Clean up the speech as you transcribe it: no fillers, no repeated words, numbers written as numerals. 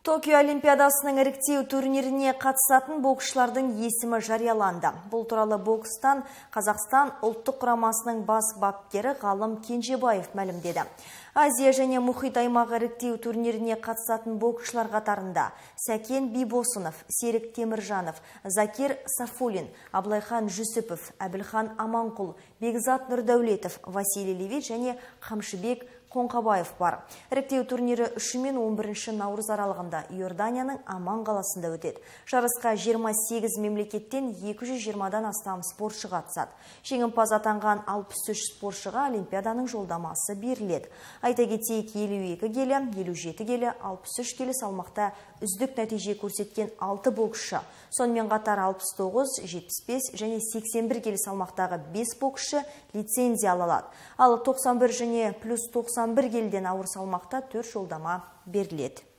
Токио Олимпиадасының іріктеу турниріне қатысатын боксшылардың есімі жарияланды. Бұл туралы бокстан Қазақстан ұлттық құрамасының бас бапкері Ғалым Кенжебаев мәлімдеді. Азия және мұхит аймағы іріктеу турниріне қатысатын боксшылар қатарында Сәкен Бибосынов, Серік Теміржанов, Закир Сафулин, Аблайхан Жүсіпов, Әбілхан Аманқұл, Бекзат Нұрдәулетов, Василий Левит және Қамшыбек Қонқабаев бар. Іріктеу турнирі 3 мен 11 наурыз аралығында Иорданияның Аман қаласында өтеді. Жарысқа 28 мемлекеттен 220-дан астам спортшы қатысады. Жеңімпаз атанған 63 спортшыға Олимпиаданың жолдамасы беріледі. Айта кетейік, 52 келі, 57 келі, 63 келі салмақта үздік нәтиже көрсеткен 6 боксшы. Сонымен қатар 69, 75 және 81 келі салмақтағы 5 боксшы лицензия алады. Ал 91 және плюс 91 келіден ауыр салмақта 4 жолдама беріледі.